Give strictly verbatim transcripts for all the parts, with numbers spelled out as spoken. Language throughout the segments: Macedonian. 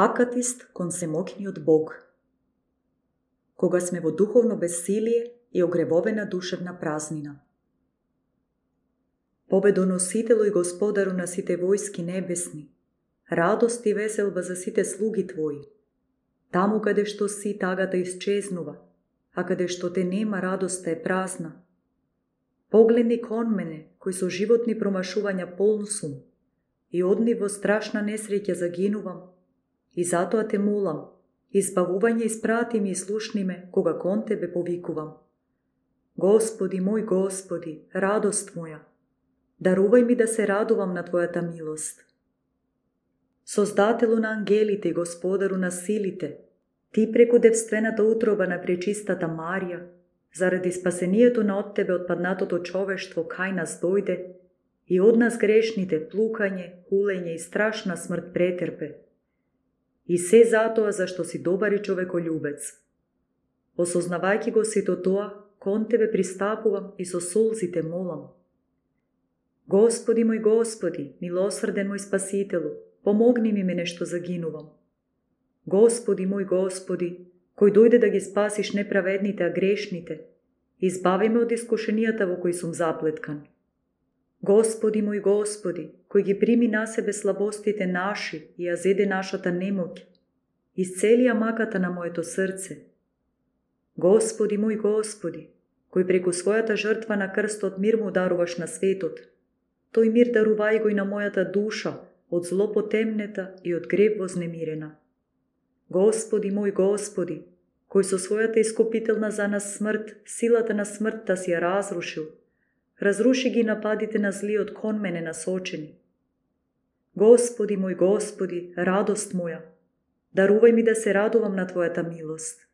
Акатист кон семокниот Бог. Кога сме во духовно бесилие и огревовена душевна празнина. Победоносителу и Господару на сите војски небесни, радост и веселба за сите слуги Твои. Таму каде што си, тагата исчезнува, а каде што те нема, радоста е празна. Погледни кон мене, кој со животни промашувања полн сум, и од нив во страшна несреќа загинувам, и затоа те молам, избавување испрати ми и слушни ме, кога кон Тебе повикувам. Господи, мој Господи, радост моја, дарувај ми да се радувам на Твојата милост. Создателу на ангелите и Господару на силите, Ти преку девствената утроба на пречистата Марија, заради спасението на од Тебе отпаднатото човештво кај нас дојде и од нас грешните плукање, хулење и страшна смрт претерпе. И се затоа зашто си добар и човеколюбец. Осознавајќи го сето тоа, кон Тебе пристапувам и со солзите молам. Господи мој Господи, милосрден мој Спасителу, помогни ми мене што загинувам. Господи мој Господи, кој дојде да ги спасиш неправедните, а грешните, избави ме од искушенијата во кои сум заплеткан. Господи мој Господи, кој ги прими на себе слабостите наши и ја зеде нашата немоќ, исцели ја маката на моето срце. Господи мој Господи, кој преку својата жртва на крстот мир му даруваш на светот, тој мир дарувај го и на мојата душа од зло потемнета и од греб вознемирена. Господи мој Господи, кој со својата искупителна за нас смрт, силата на смртта си ја разрушил, разруши ги нападите на злиот кон мене насочени. Господи мој Господи, радост моја, дарувај ми да се радувам на Твојата милост.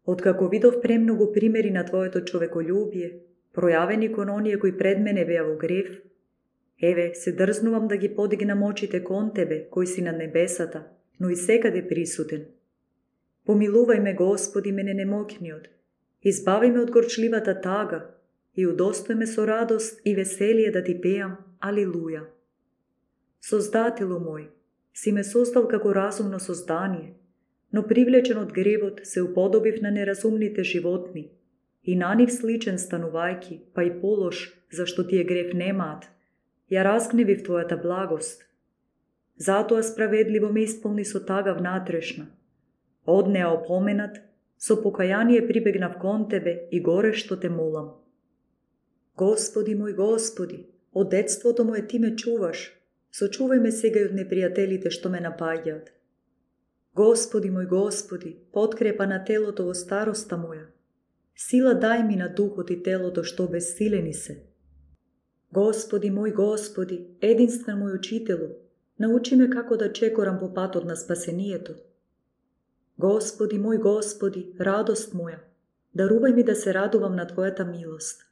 Откако видов премногу примери на Твоето човеколюбие, пројавени кон оние кои пред мене беа во грев, еве, се дрзнувам да ги подигнам очите кон Тебе, кој си на небесата, но и секаде присутен. Помилувај ме, Господи, мене немоќниот, избави ме од горчливата тага и удостој ме со радост и веселие да Ти пеам, алилуја. Создателу мој, си ме создал како разумно создание, но привлечен од гревот се уподобив на неразумните животни и на нив сличен станувајки, па и полош, зашто тие грев немаат, ја разгневив Твојата благост. Затоа справедливо ме исполни со тага внатрешна. Од неа опоменат, со покаяние прибегнав кон Тебе и горещо Те молам. Господи мој Господи, од детството моје Ти ме чуваш, сочувај ме сега и од непријателите што ме напаѓаат. Господи мој Господи, подкрепа на телото во староста моја, сила дај ми на духот и телото што бессилени се. Господи мој Господи, единствен мој учителу, научи ме како да чекорам по патот на спасението. Господи мој Господи, радост моја, дарувај ми да се радувам на Твојата милост.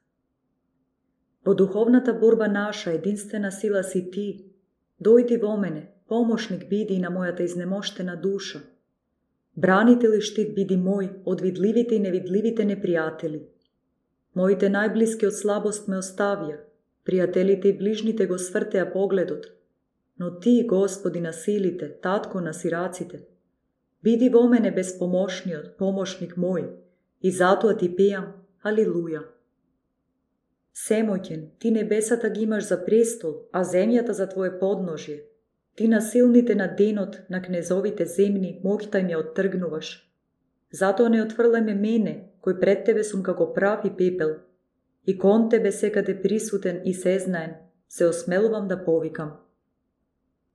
Во духовната борба наша единствена сила си Ти, дојди во мене, помошник биди и на мојата изнемоштена душа. Бранител и штит биди мој од видливите и невидливите непријатели. Моите најблиски од слабост ме оставија, пријателите и ближните го свртеа погледот, но Ти, Господи на силите, татко на сираците, биди во мене безпомошниот, помошник мој, и затоа Ти пеам, алилуја. Семоќен, Ти небесата ги имаш за престол, а земјата за Твое подножие. Ти на силните на денот, на кнезовите земни, моќта им ја оттргнуваш. Затоа не отфрлај ме мене, кој пред Тебе сум како прав и пепел, и кон Тебе секаде присутен и сезнаен, се осмелувам да повикам.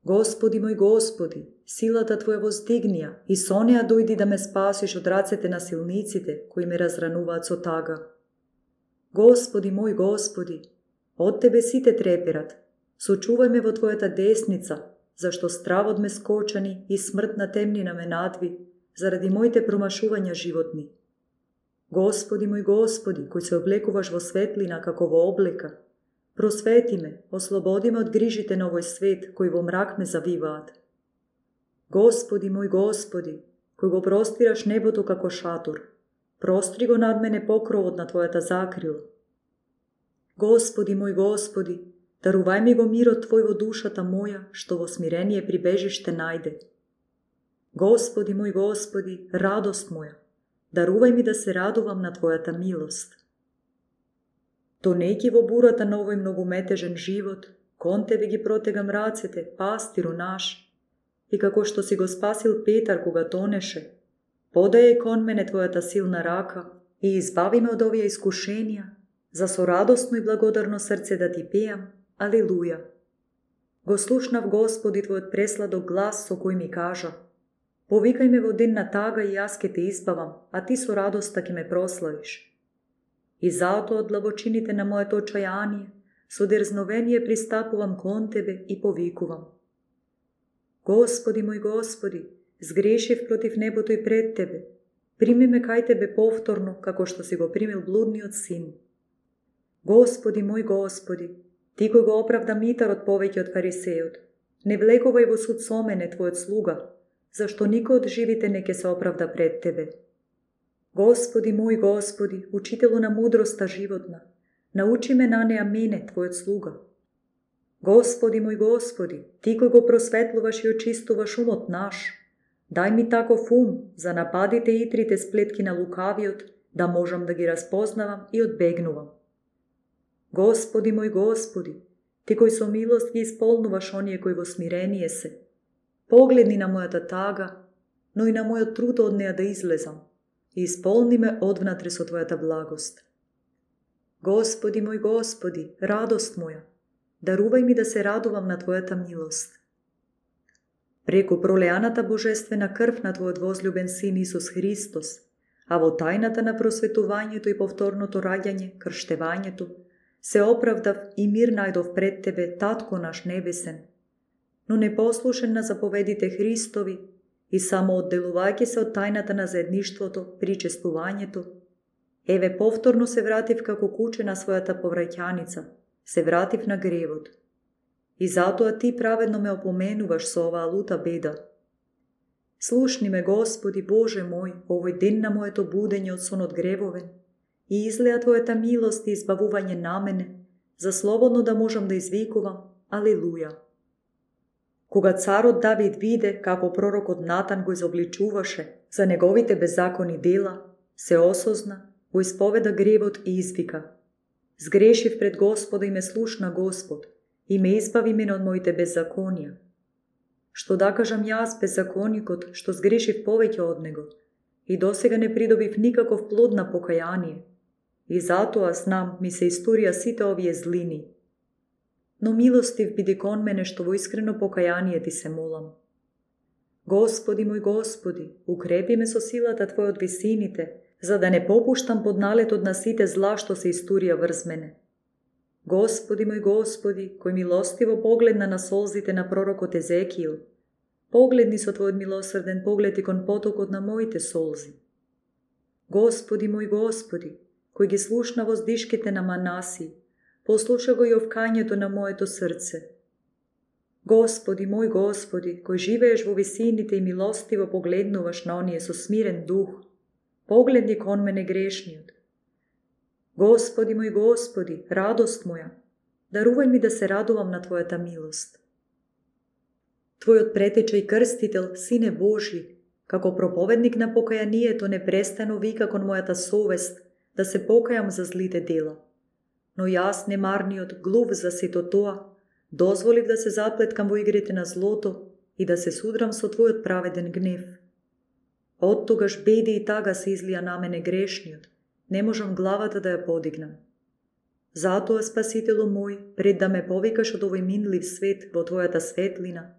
Господи мој Господи, силата Твоја воздигнија и со неа дојди да ме спасиш од рацете на силниците, кои ме разрануваат со тага. Господи мој Господи, од Тебе сите треперат, сочувај ме во Твојата десница, зашто стравот ме скочани и смртна темнина ме надви, заради моите промашувања животни. Господи мој Господи, кој се облекуваш во светлина како во облека, просвети ме, ослободи ме од грижите на овој свет, кои во мрак ме завиваат. Господи мој Господи, кој го простираш небото како шатор, простри го над мене покровот на Твојата закрила. Господи мој Господи, дарувај ми го мирот Твој во душата моја, што во смирение прибежиште најде. Господи мој Господи, радост моја, дарувај ми да се радувам на Твојата милост. Тонејќи во бурата на овој многуметежен живот, кон Тебе ги протегам рацете, пастиру наш, и како што си го спасил Петар кога тонеше, подај кон мене Твојата силна рака и избави ме од овие искушенија, за со радостно и благодарно срце да Ти пеам, алелуја. Го слушнав Господи Твојот пресладок глас со кој ми кажа: повикај ме во ден на тага и јас ке те избавам, а Ти со радоста ке ме прославиш. И затоа од длабочините на моето очајание, со дерзновение пристапувам кон Тебе и повикувам: Господи мој Господи, сгрешив против небото и пред Тебе, прими ме кај Тебе повторно, како што си го примил блудниот син. Господи мој Господи, Ти кој го оправда Митарот повеќе од фарисеот, не влегувај во суд со мене, Твојот слуга, зашто никој од живите не ке се оправда пред Тебе. Господи мој Господи, учителу на мудроста животна, научи ме на неа мене, Твојот слуга. Господи мој Господи, Ти кој го просветлуваш и очистуваш умот наш, дај ми таков ум за нападите и трите сплетки на лукавиот, да можам да ги разпознавам и одбегнувам. Господи мој Господи, Ти кој со милост ги исполнуваш оние кои во смирение се, погледни на мојата тага, но и на мојот труд од неа да излезам, и исполни ме одвнатре со Твојата благост. Господи мој Господи, радост моја, дарувај ми да се радувам на Твојата милост. Преку пролеаната божествена крв на Твојот возлюбен Син Исус Христос, а во тајната на просветувањето и повторното раѓање, крштевањето, се оправдав и мир најдов пред Тебе, Татко наш небесен, но непослушен на заповедите Христови и само одделувајќи се од тајната на заедништвото, причествувањето, еве повторно се вратив како куче на својата повраќаница, се вратив на гревот. И затоа Ти праведно ме опоменуваш со оваа лута беда. Слушни ме, Господи Боже мој, овој ден на моето будење од сонот гревовен, и излеа Твојата милост и избавување на мене, за слободно да можам да извикувам алелуја. Кога царот Давид виде како пророкот Натан го изобличуваше за неговите беззакони дела, се осозна, го исповеда гревот и извика: сгрешив пред Господа и ме слушна Господ, и ме избави мене од моите беззаконија. Што да кажам јас, беззаконикот, што сгрешив повеќе од него, и досега не придобив никаков плод на покаяние, и затоа знам ми се историја сите овие злини. Но милостив биди кон мене што во искрено покаяние Ти се молам. Господи мој Господи, укрепи ме со силата Твоја од висините, за да не попуштам под налетот на сите зла што се историја врз мене. Господи мој Господи, кој милостиво погледна на солзите на пророкот Езекиил, погледни со Твојот милосрден поглед и кон потокот на моите солзи. Господи мој Господи, кој ги слушна воздишките на Манаси, послуша го и овкањето на моето срце. Господи мој Господи, кој живееш во висините и милостиво погледнуваш на оние со смирен дух, погледни кон мене грешниот. Господи мој Господи, радост моја, дарувај ми да се радувам на Твојата милост. Твојот претеча и крстител, Сине Божи, како проповедник на покајанието непрестано вика кон мојата совест да се покајам за злите дела. Но јас, немарниот, глув за сето тоа, дозволив да се заплеткам во игрите на злото и да се судрам со Твојот праведен гнев. Од тогаш беди и тага се излија на мене грешниот, не можам главата да ја подигнам. Затоа, Спасителу мој, пред да ме повикаш од овој минлив свет во Твојата светлина,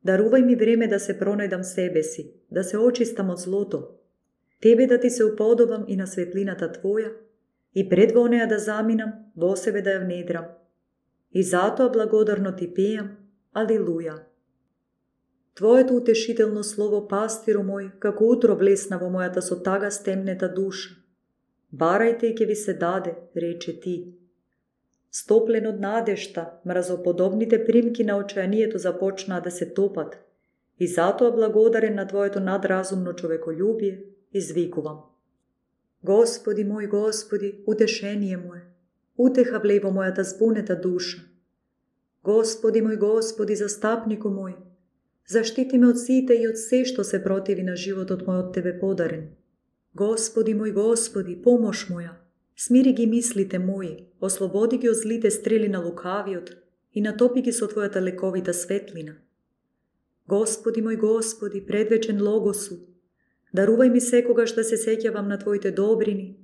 дарувај ми време да се пронајдам себе си, да се очистам од злото, Тебе да Ти се уподобам и на светлината Твоја, и пред во неа да заминам, во себе да ја внедрам. И затоа благодарно Ти пеам, алелуја. Твоето утешително слово, пастиру мој, како утро влесна во мојата со тага стемнета душа. Барајте и ке ви се даде, рече Ти. Стоплен од надежта, мразоподобните примки на очајанието започнаа да се топат, и затоа благодарен на Твоето надразумно човеколюбие, извикувам. Господи мој Господи, утешение мое, утеха влеј во мојата збунета душа. Господи мој Господи, застапнику мој, Заштити ме од сите и од се што се противи на животот мој од Тебе подарен. Господи мој Господи, помош моја, смири ги мислите мои, ослободи ги од злите стрели на лукавиот и натопи ги со Твојата лековита светлина. Господи мој Господи, предвечен Логосу, дарувај ми секогаш да се сеќавам на Твоите добрини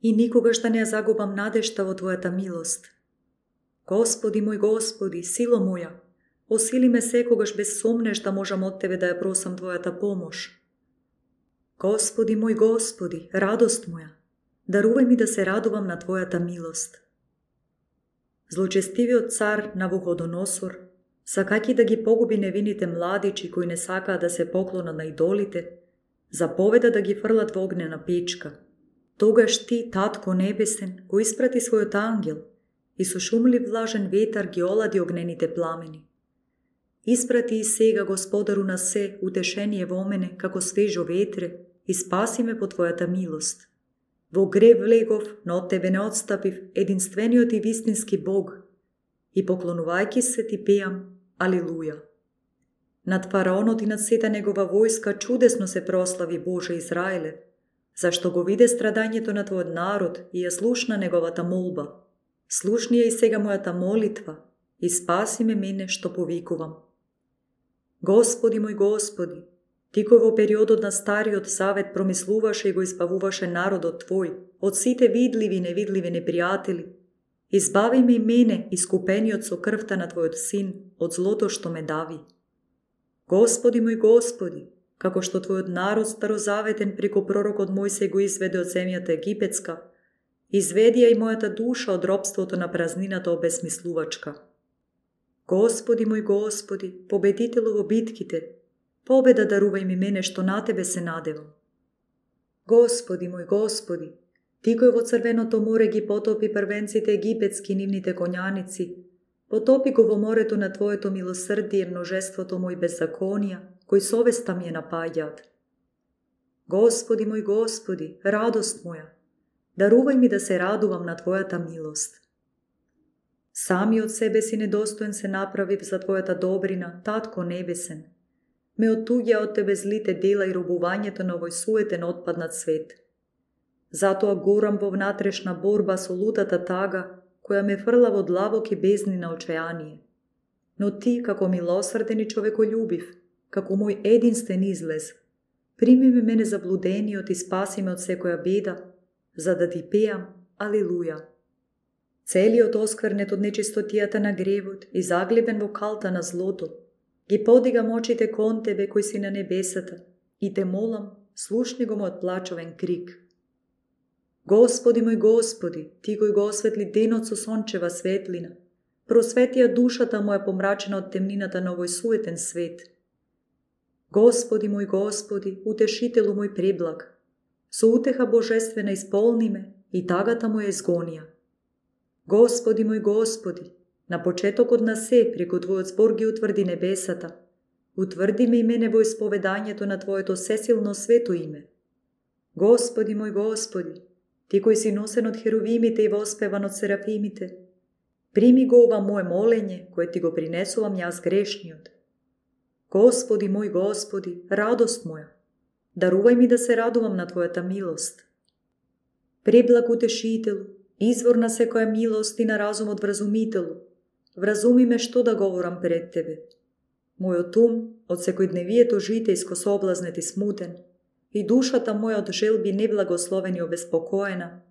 и никогаш да не ја загубам надежта во Твојата милост. Господи мој Господи, сила моја, осили ме секогаш без сомнеш да можам од Тебе да ја просам Твојата помош. Господи мој Господи, радост моја, дарувај ми да се радувам на Твојата милост. Злочестивиот цар Навуходоносор, сакајќи да ги погуби невините младичи кои не сакаат да се поклонат на идолите, заповеда да ги фрлат во огнена печка. Тогаш Ти, Татко Небесен, го испрати својот ангел и со шумлив влажен ветар ги олади огнените пламени. Испрати и сега, Господару на се, утешение во мене, како свежо ветре, и спаси ме по Твојата милост. Во грев влегов, но од Тебе не отстапив, единствениот и вистински Бог, и поклонувајќи се Ти пеам, Алилуја. Над фараонот и над сета негова војска чудесно се прослави Боже Израеле, зашто го виде страдањето на Твојот народ и ја слушна неговата молба. Слушни ја и сега мојата молитва и спаси ме мене што повикувам. Господи мој Господи, Ти кој во периодот на Стариот Завет промислуваше и го избавуваше народот Твој од сите видливи и невидливи непријатели, избави ме и мене, искупениот со крвта на Твојот Син, од злото што ме дави. Господи мој Господи, како што Твојот народ старозаветен преку пророкот Мојсей го изведе од земјата египетска, изведи ја и мојата душа од робството на празнината обесмислувачка. Господи мој Господи, победителу во битките, победа дарувај ми мене што на Тебе се надевам. Господи мој Господи, Ти кој во Црвеното море ги потопи првенците египетски нивните коњаници, потопи го во морето на Твоето милосрдие множеството мој беззаконија, кои совеста ми ја напаѓаат. Господи мој Господи, радост моја, дарувај ми да се радувам на Твојата милост. Сами од себе си недостоен се направив за Твојата добрина, Татко Небесен. Ме оттуѓа од Тебе злите дела и робувањето на овој суетен отпаднат свет. Затоа горам во внатрешна борба со лутата тага, која ме фрла во длабоки бездни на очајание. Но Ти, како милосрден и човеколюбив, како мој единствен излез, прими ме мене заблудениот и спаси ме од секоја беда, за да Ти пеам Алилуја. Целиот осквернет од нечистотијата на гревот и заглебен во калта на злото, ги подигам очите кон Тебе кој си на небесата и Те молам, слушни го мојот плачовен крик. Господи мој Господи, Ти кој го осветли денот со сончева светлина, просветија душата моја помрачена од темнината на овој суетен свет. Господи мој Господи, утешителу мој преблаг, со утеха божествена исполни ме и тагата моја изгонија. Господи мој Господи, на почетокот на се преку Твојот збор ги утврди небесата, утврди ме и мене во исповедањето на Твоето сесилно свето име. Господи мој Господи, Ти кој си носен од херувимите и воспеван од серафимите, прими го ова моje молење, кое Ти го принесувам јас грешниот. Господи мој Господи, радост моја, дарувај ми да се радувам на Твојата милост. Преблаг утешителу, извор на секоја милост и на разумот вразумителу, вразуми ме што да говорам пред Тебе. Мојот ум од секојдневието житејско соблазнет и смутен, и душата моја од желби неблагословени и обеспокоена,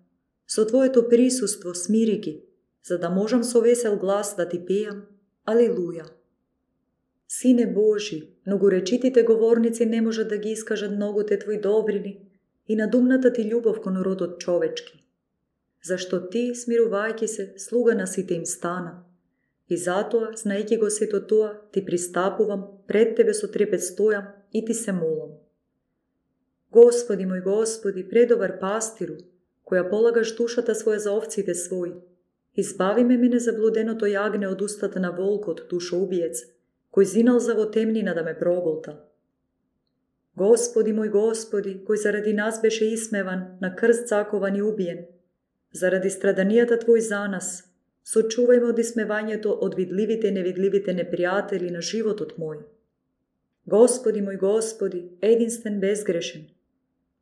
со Твоето присуство смири ги, за да можам со весел глас да Ти пеам Алилуја. Сине Божи, многоречитите говорници не можат да ги искажат многоте Твои добрини и надумната Ти љубов кон родот човечки. Зашто Ти, смирувајќи се, слуга на сите им стана. И затоа, знаејќи го сето тоа, Ти пристапувам, пред Тебе со трепет стојам и Ти се молам. Господи мој Господи, предобар пастиру, која полагаш душата своја за овците своји, избави ме мене заблуденото јагне од устата на волкот, душоубиец, кој зиналза во темнина да ме проголта. Господи мој Господи, кој заради нас беше исмеван, на крст закован и убиен, заради страданијата Твој за нас, сочувај ме од исмевањето од видливите и невидливите непријатели на животот мој. Господи мој Господи, единствен безгрешен,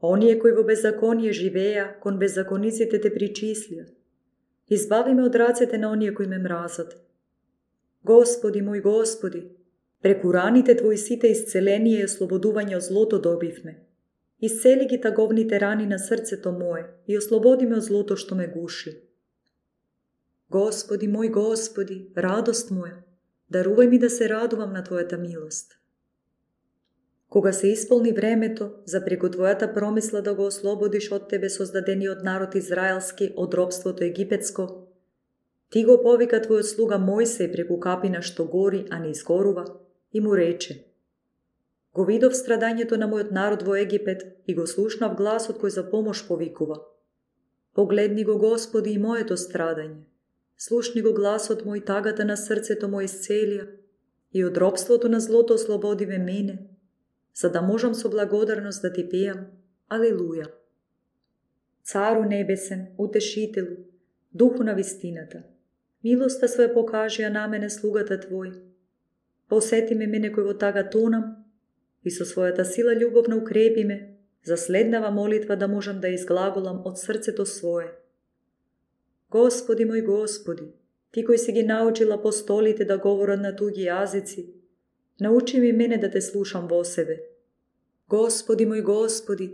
оние кои во беззаконие живеја, кон беззакониците те причислија. Избави ме од рацете на оние кои ме мразат. Господи мој Господи, преку раните Твои сите исцеление и ослободување од злото добивме. Исцели ги таговните рани на срцето мое и ослободи ме од злото што ме гуши. Господи мој Господи, радост моја, дарувај ми да се радувам на Твојата милост. Кога се исполни времето за преку Твојата промисла да го ослободиш од Тебе создадениот народ израелски од робството египетско, Ти го повика Твојот слуга Мојсеј преку капина што гори, а не изгорува, и му рече: Го видов страдањето на мојот народ во Египет и го слушнав гласот кој за помош повикува. Погледни го, Господи, и моето страдање. Слушни го гласот мој, тагата на срцето мој исцелија, и од робството на злото ослободи ме мене, за да можам со благодарност да Ти пеам. Алелуја. Цару небесен, утешителу, духу на вистината, милоста своја покажија на мене слугата Твој. Посети ме мене кој во тага тонам и со својата сила љубовна укрепи ме за следнава молитва да можам да изглаголам од срцето свое. Господи мој Господи, Ти кој си ги научил апостолите да говорат на туги јазици, научи ми мене да Те слушам во себе. Господи мој Господи,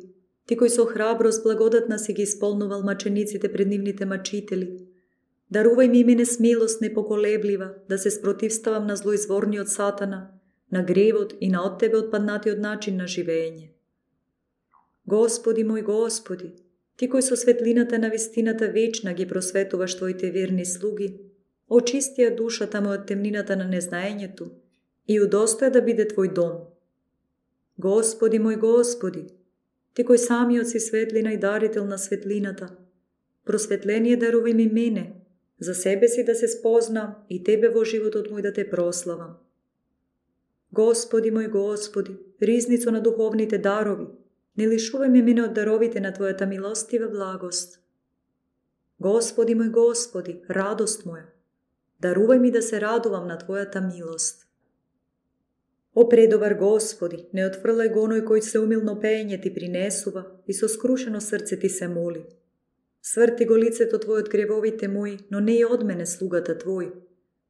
Ти кој со храброст благодатна си ги исполнувал мачениците пред нивните мачители, дарувај ми мене смелост непоколеблива да се спротивставам на злоизворниот сатана, на гревот и на од Тебе отпаднатиот начин на живење. Господи мој Господи, Ти кој со светлината на вистината вечна ги просветуваш Твоите верни слуги, очистија душата му од темнината на незнаењето и удостоја да биде Твој дом. Господи мој Господи, Ти кој самиот си светлина и дарител на светлината, просветление дарувај ми мене, за себе си да се спознам и Тебе во животот мој да Те прославам. Господи мој Господи, ризницо на духовните дарови, не лишувај ме мене од даровите на Твојата милостива благост. Господи мој Господи, радост моја, дарувај ми да се радувам на Твојата милост. О предобар Господи, не отфрлај го оној кој се умилно пеење Ти принесува и со скрушено срце Ти се моли. Сврти го лицето Твој од гревовите мои, но не и од мене слугата Твој,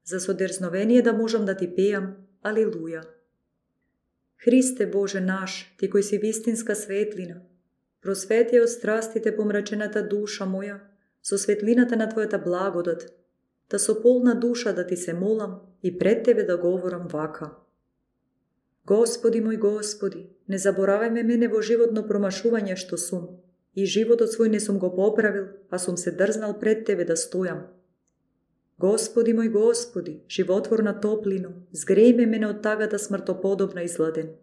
за со дерзновение да можам да Ти пеам. Алилуја. Христе Боже наш, Ти кој си вистинска светлина, просвети од страстите помрачената душа моја со светлината на Твојата благодат, да со полна душа да Ти се молам и пред Тебе да говорам вака. Господи мој Господи, не заборавај ме мене во животно промашување што сум, и животот свој не сум го поправил, а сум се дрзнал пред Тебе да стојам. Господи мој Господи, животворна топлино, згреј ме мене од тагата смртоподобна изладен.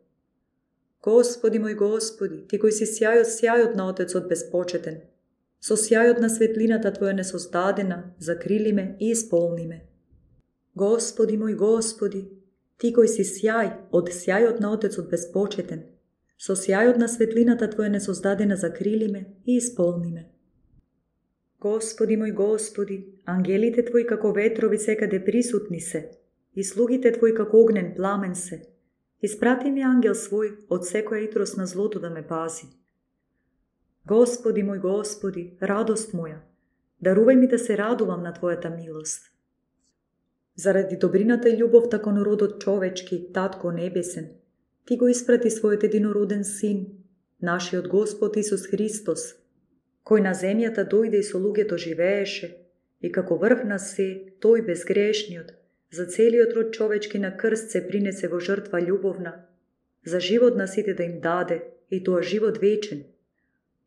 Господи мој Господи, Ти кој си сјајот сјајот на Отецот безпочетен, со сјајот на светлината Твоја несоздадена, закрили ме и исполни ме. Господи мој Господи, Ти кој си сјај од сјајот на Отецот безпочетен, со сјајот на светлината Твоја несоздадена закрили ме и исполни ме. Господи мој Господи, ангелите Твои како ветрови секаде присутни се, и слугите Твои како огнен пламен се. Испрати ми ангел свој од секоја итрос на злото да ме пази. Господи мој Господи, радост моја, дарувај ми да се радувам на Твојата милост. Заради добрината и љубовта кон родот човечки, Татко небесен, Ти го испрати својот единороден Син, нашиот Господ Исус Христос, кој на земјата дојде и со луѓето живееше, и како врв на се, тој безгрешниот, за целиот род човечки на крст се принесе во жртва љубовна, за живот на сите да им даде, и тоа живот вечен.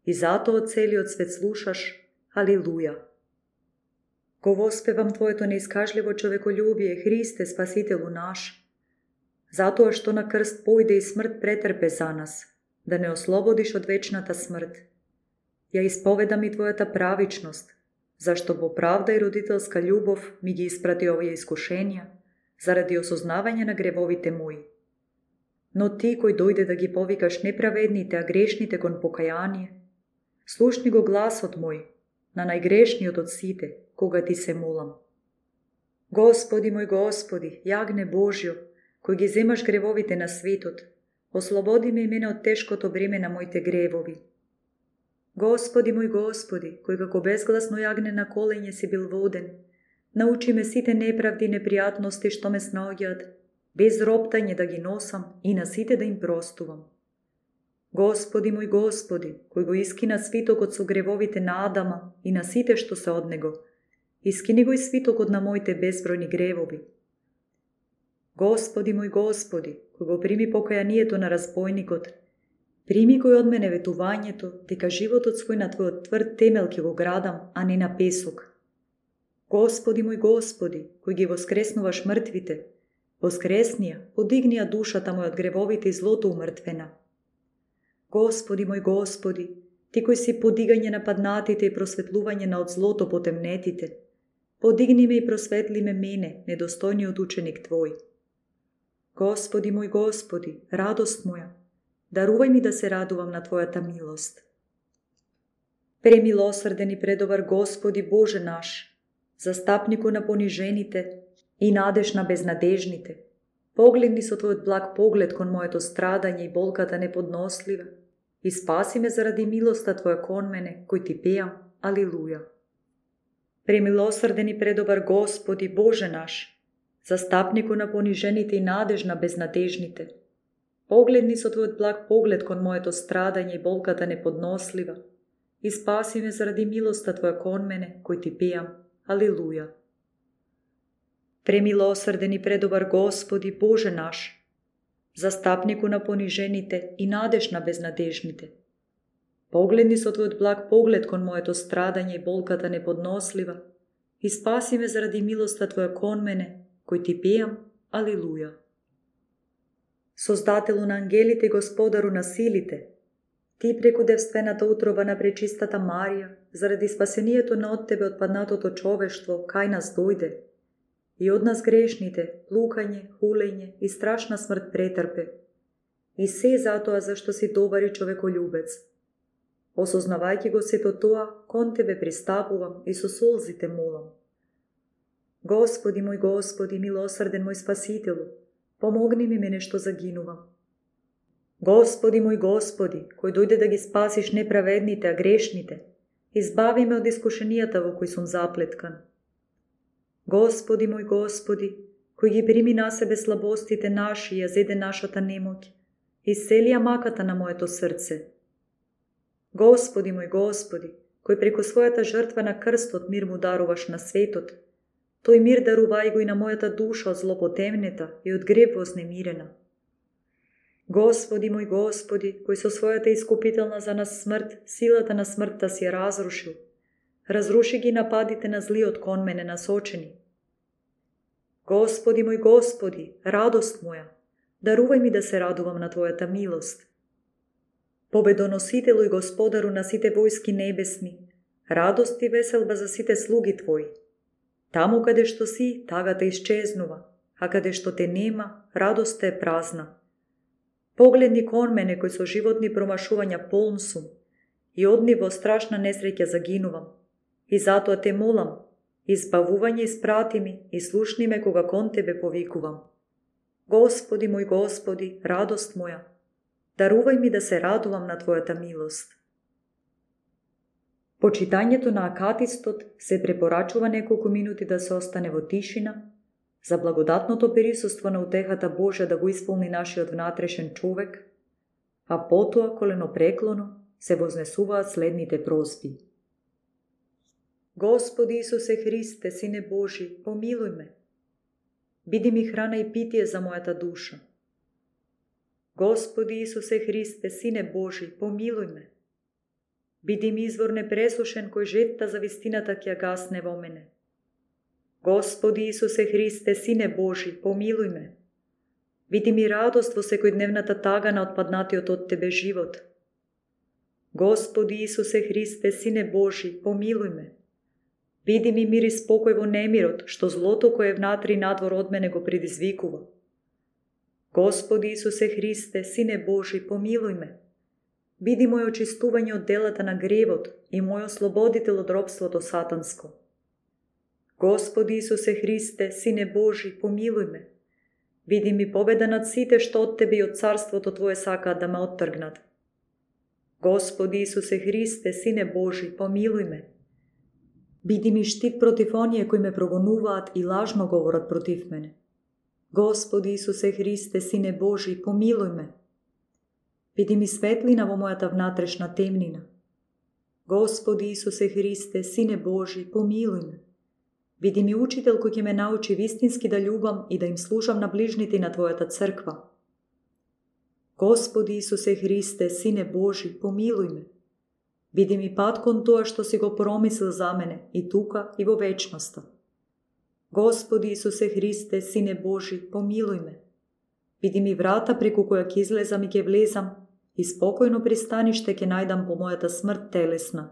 И затоа целиот свет слушаш, алилуја. Го воспевам Твоето неискажливо човеколюбие, Христе, Спасителу наш, затоа што на крст појде и смрт претрпе за нас, да не ослободиш од вечната смрт. Ја исповедам и Твојата правичност, зашто во правда и родителска љубов ми ги испрати овие искушенија, заради осознавање на гревовите мои. Но Ти кој дојде да ги повикаш неправедните, а грешните кон покаяние, слушни го гласот мој, на најгрешниот од сите, кога Ти се молам. Господи мој Господи, јагне Божјо, кој ги земаш гревовите на светот ослободи ме и мене од тешкото бреме на моите гревови. Господи мој Господи, кој како безгласно јагне на коленје си бил воден, научи ме сите неправди и непријатности што ме снаоѓаат, без роптање да ги носам и на сите да им простувам. Господи мој Господи, кој го искина свитокот со гревовите на Адама и на сите што се од него, искини го и свитокот на моите безбројни гревови. Господи мој Господи, кој го прими покајанието на разбойникот, прими кој од мене ветувањето, дека животот свој на Твојот тврд темел ќе го градам, а не на песок. Господи мој Господи, кој ги воскреснуваш мртвите, воскреснија, подигнија душата мој од гревовите и злото умртвена. Господи мој Господи, Ти кој си подигање на паднатите и просветлување на од злото потемнетите, подигни ме и просветли ме мене, недостојниот ученик Твој. Господи мој Господи, радост моја, дарувај ми да се радувам на Твојата милост. Премилосрден и предобар Господи Боже наш, застапнику на понижените и надеж на безнадежните, погледни со Твојот благ поглед кон моето страдање и болката неподнослива и спаси ме заради милоста Твоја кон мене, кој Ти пеам, алилуја. Премилосрден и предобар Господи Боже наш, застапнику на понижените и надеж на безнадежните, погледни со Твојот благ поглед кон моето страдање и болката неподнослива и спаси ме заради милоста Твоја кон мене, кој Ти пеам, алилуја. Премилосрден и предобар Господи Боже наш, застапнику на понижените и надеж на безнадежните, погледни со Твојот благ поглед кон моето страдање и болката неподнослива и спаси ме заради милоста Твоја кон мене, кој Ти пеам, алилуја. Создателу на ангелите и Господару на силите, Ти преку девствената утроба на пречистата Марија, заради спасението на од Тебе отпаднатото човештво, кај нас дојде, и од нас грешните, плукање, хулење и страшна смрт претрпе, и се затоа зашто си добар и човеколюбец. Осознавајќи го сето тоа, кон Тебе пристапувам и со солзите молам. Господи мој Господи, милосрден мој Спасителу, помогни ми мене што загинувам. Господи мој Господи, кој дојде да ги спасиш неправедните, а грешните, избави ме од искушенијата во кои сум заплеткан. Господи мој Господи, кој ги прими на себе слабостите наши и ја зеде нашата немоќ, исцели ја маката на моето срце. Господи мој Господи, кој преку својата жртва на крстот мир му даруваш на светот, тој мир дарувај го и на мојата душа од злопотемнета и од греб вознемирена. Господи мој Господи, кој со својата искупителна за нас смрт, силата на смртта си ја разрушил, разруши ги нападите на злиот кон мене насочени. Господи мој Господи, радост моја, дарувај ми да се радувам на Твојата милост. Победоносителу и Господару на сите војски небесни, радост и веселба за сите слуги Твои. Таму каде што си, тагата исчезнува, а каде што Те нема, радоста е празна. Погледни кон мене кој со животни промашувања полн сум, и од нив во страшна несреќа загинувам. И затоа Те молам, избавување испрати ми и слушни ме кога кон Тебе повикувам. Господи мој Господи, радост моја, дарувај ми да се радувам на Твојата милост. По читањето на акатистот се препорачува неколку минути да се остане во тишина, за благодатното присуство на утехата Божја да го исполни нашиот внатрешен човек, а потоа коленопреклоно се вознесуваат следните просби. Господи Исусе Христе, Сине Божи, помилуј ме. Биди ми храна и питие за мојата душа. Господи Исусе Христе, Сине Божи, помилуј ме. Биди ми извор непресушен кој жетта за вистината ќе гасне во мене. Господи Исусе Христе, Сине Божи, помилуј ме. Биди ми радост во секојдневната тага на отпаднатиот од Тебе живот. Господи Исусе Христе, Сине Божи, помилуј ме. Биди ми мир и спокој во немирот, што злото кое е внатре и надвор од мене го предизвикува. Господи Исусе Христе, Сине Божи, помилуј ме. Биди мој очистување од делата на гревот и мој ослободител од робството сатанско. Господи Исусе Христе, Сине Божи, помилуј ме. Види ми победа над сите што од Тебе и од царството Твое сакаат да ме оттргнат. Господи Исусе Христе, Сине Божи, помилуј ме. Биди ми штит против оние кои ме прогонуваат и лажно говорат против мене. Господи Исусе Христе, Сине Божи, помилуј ме. Биди ми светлина во мојата внатрешна темнина. Господи Исусе Христе, Сине Божи, помилуј ме. Биди ми учител кој ќе ме научи вистински да љубам и да им служам на ближните на Твојата црква. Господи Исусе Христе, Сине Божи, помилуј ме. Биди ми пат кон тоа што си го промислил за мене и тука и во вечноста. Господи Исусе Христе, Сине Божи, помилуј ме. Биди ми врата преку која ќе излезам и ќе влезам и спокојно пристаниште ќе најдам по мојата смрт телесна.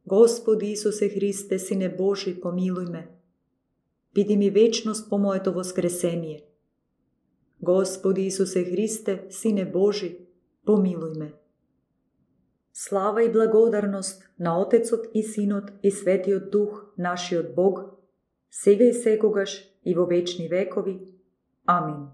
Господи Исусе Христе, Сине Божи, помилуј ме. Биди ми вечност по моето воскресение. Господи Исусе Христе, Сине Божи, помилуј ме. Слава и благодарност на Отецот и Синот и Светиот Дух, нашиот Бог, сега и секогаш и во вечни векови. Амин.